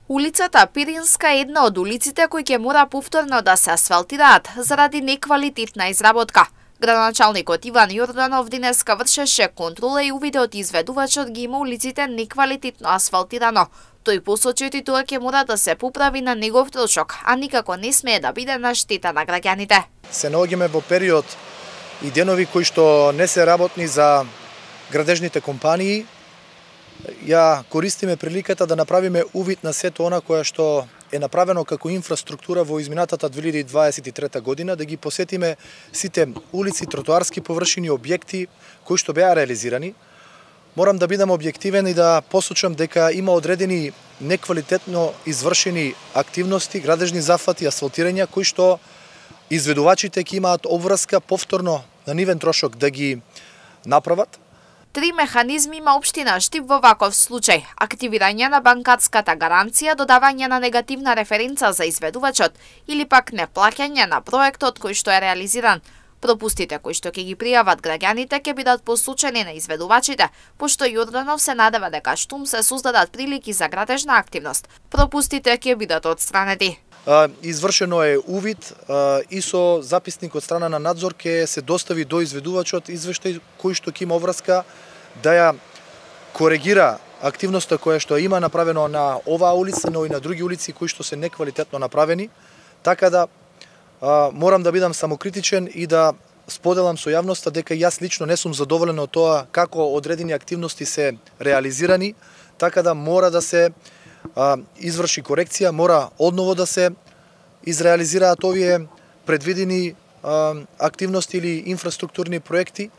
Улицата Пиринска е една од улиците кои ќе мора повторно да се асфалтираат заради неквалитетна изработка. Градоначалникот Иван Јорданов денеска вршеше контрола и увиде од изведувачот ги има улиците неквалитетно асфалтирано. Тој посочи и тоа ќе мора да се поправи на негов трошок, а никако не смее да биде на штета на граѓаните. Се наоѓаме во период и денови кои што не се работни за градежните компании. Ја користиме приликата да направиме увид на сето она кое што е направено како инфраструктура во изминатата 2023 година, да ги посетиме сите улици, тротоарски површини, објекти кои што беа реализирани. Морам да бидам објективен и да посочам дека има одредени неквалитетно извршени активности, градежни зафати, асфалтирања кои што изведувачите ќе имаат обврска повторно на нивен трошок да ги направат. 3 механизми има општина Штип во ваков случај: активирање на банкарската гаранција, додавање на негативна референца за изведувачот или пак неплаќање на проектот кој што е реализиран. Пропустите кои што ќе ги пријават граѓаните ќе бидат посочени на изведувачите, пошто Јорданов се надева дека штум се создадат прилики за градежна активност, пропустите ќе бидат отстранети. Извршено е увид и со записник од страна на надзор ќе се достави до изведувачот извештај кој што ќе има обврска да ја коригира активноста која што има направено на оваа улица, но и на други улици кои што се неквалитетно направени. Така да морам да бидам самокритичен и да споделам со јавноста дека јас лично не сум задоволен од тоа како одредени активности се реализирани, така да мора да се изврши корекција, мора одново да се изреализираат овие предвидени активности или инфраструктурни проекти.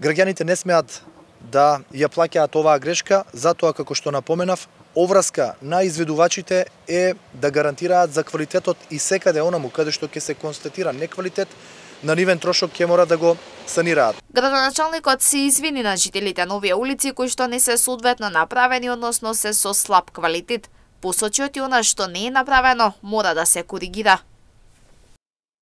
Граѓаните не смеат да ја плаќаат оваа грешка, затоа како што напоменав, обврска на изведувачите е да гарантираат за квалитетот и секаде онаму каде што ќе се констатира неквалитет, на нивен трошок ќе мора да го санираат. Градоначалникот се извини на жителите на овие улици кои што не се соодветно направени, односно се со слаб квалитет. Посочи и она што не е направено мора да се коригира.